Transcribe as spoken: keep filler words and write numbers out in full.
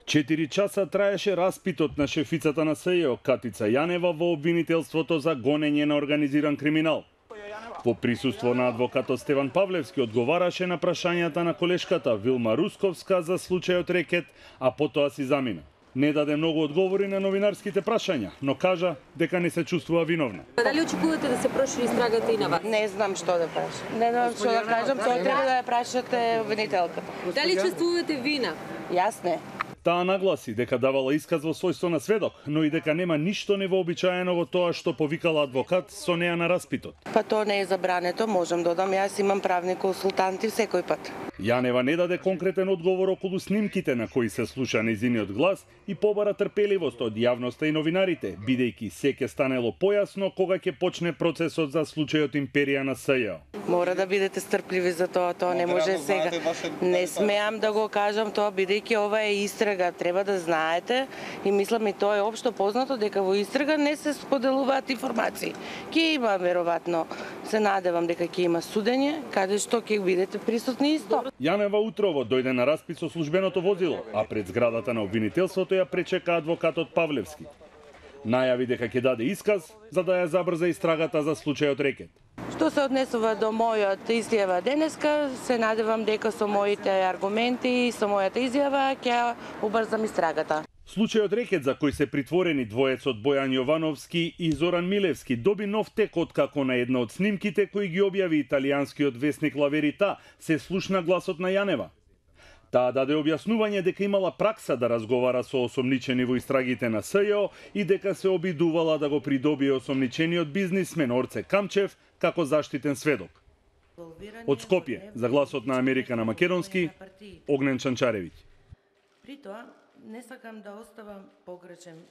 Четири часа траеше распитот на шефицата на СЈО Катица Јанева во обвинителството за гонење на организиран криминал. Во присуство на адвокатот Стеван Павлевски одговараше на прашањата на колешката Вилма Русковска за случајот Рекет, а потоа си замина. Не даде многу одговори на новинарските прашања, но кажа дека не се чувствува виновна. Дали очекувате да се прошири истрагата и на вас? Не знам што да прашам. Не знам што да кажам, тоа треба да ја прашате обвинителката. Дали чувствувате вина? Јас не. Таа нагласи дека давала исказ во својство на сведок, но и дека нема ништо невообичаено во тоа што повикала адвокат со неа на распитот. Па тоа не е забрането, можам да додам, јас имам правни консултанти секој пат. Јанева не даде конкретен одговор околу снимките на кои се слуша нејзиниот глас и побара трпеливост од јавноста и новинарите, бидејќи се ќе станело појасно кога ќе почне процесот за случајот Империја на СЈО. Мора да бидете стрпливи за тоа, тоа не може сега. Не смеам да го кажам тоа, бидејќи ова е истрага, треба да знаете и мислам и тоа е општо познато дека во истрага не се споделуваат информации. Ќе има веројатно, се надевам дека ќе има судење, каде што ќе бидете присутни исто. Јанева утрово дојде на распит со службеното возило, а пред зградата на обвинителството ја пречека адвокатот Павлевски. Најави дека ќе даде исказ за да ја забрза истрагата за случајот Рекет. Што се однесува до мојот изјава денеска, се надевам дека со моите аргументи и со мојата изјава ќе убрзам истрагата. Случајот Рекет, за кој се притворени двоецот Бојан Јовановски и Зоран Милевски, доби нов тек откако на една од снимките кои ги објави италијанскиот весник Ла Верита се слушна гласот на Јанева. Таа даде објаснување дека имала пракса да разговара со осомничени во истрагите на СЈО и дека се обидувала да го придобие осомничениот бизнисмен Орце Камчев како заштитен сведок. Од Скопје, за гласот на Америка на македонски, Огнен Чанчаревиќ. При тоа, не сакам да оставам погрешен